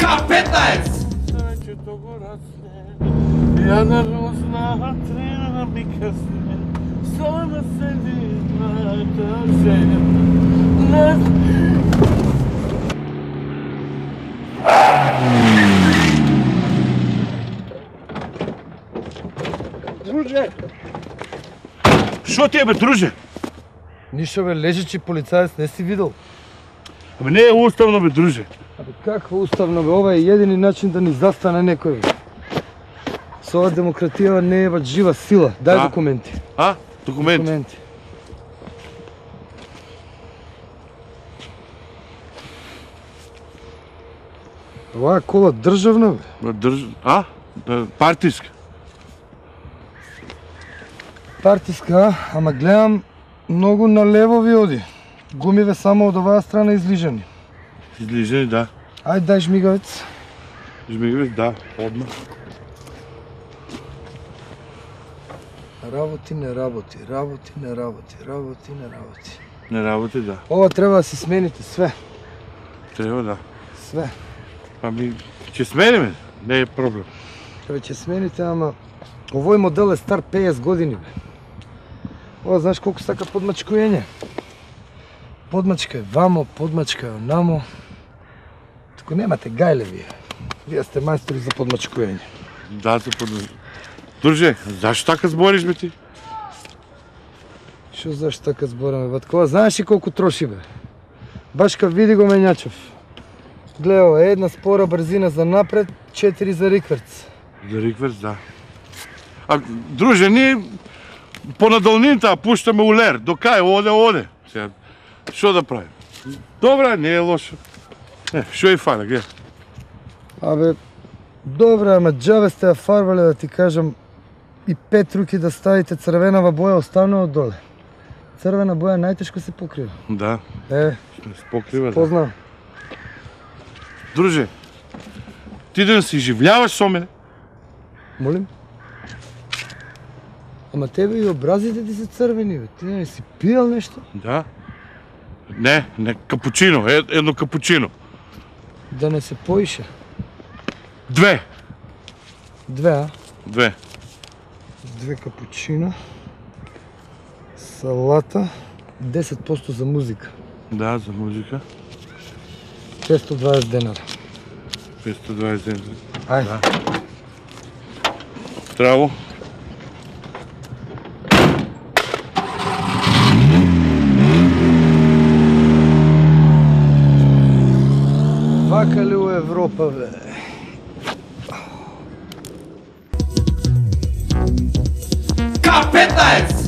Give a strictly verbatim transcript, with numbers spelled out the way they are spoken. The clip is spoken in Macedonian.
К петнаест! Јана розна трена ми касне, сама седи на тъсе. Друже! Шо ти е, бе, друже? Ништо, бе, лежачи полицаец не си видел. Абе, не е уставно, бе, друже. Абе, какво уставно, бе? Ова е едини начин да ни застане некој, бе. Со ова демократија не е бат жива сила. Дај А? документи. А? Документи? Документи. Ова е кола државна, бе. Бе, Држ... А? Да, партиска. Партиска, ама гледам многу налево ви оди. Гумиве само од оваа страна излижани. Излижени, да. Ајде, дај жмигавец. Жмигавец, да, одма. Работи, не работи, работи, не работи, работи, не работи. Не работи, да. Ова треба да си смените све. Треба, да. Све. Па ми, ќе смениме, не е проблем. Треба ќе смените, ама овој модел е стар петдесет години, бе. Ова знаеш колку сака подмачкуење? Подмачка е вамо, подмачка е онамо. Тако немате гајле вие. Вие сте мајстори за подмачкуење. Да, се под... Друже, зашто така збориш, бе, ти? Шо зашто така збораме, Ваткова? Знаеш ли колку троши, бе? Баш ка види го менјачев. Гледа, ова, една спора брзина за напред, четири за рикверц. За рикверц, да. А, друже, ние по надолнината пуштаме улер. До кај, оде, оде. Сега, шо да правим? Добра, не е лошо. Е, шо е фана, гледа. Абе, добре, ама џабе сте ја фарбале, да ти кажам, и пет руки да ставите црвенава боја останува доле. Црвена боја најтешко се покрива. Да, Е, се покрива, да. познам. Друже, ти да се изживljavaš со мене? Молим? Ама тебе и образите ти се црвени, бе. Ти не си пиел нешто? Да. Не, не, капучино, е, едно капучино. Да не се поише. Две. Две, а? Две. Две капучино. Салата. десет проценти за музика. Да, за музика. петстотини и дваесет денара. петстотини и дваесет денара. Ајде. Да. Траво. Вака ли у Европа, бе? К петнаест!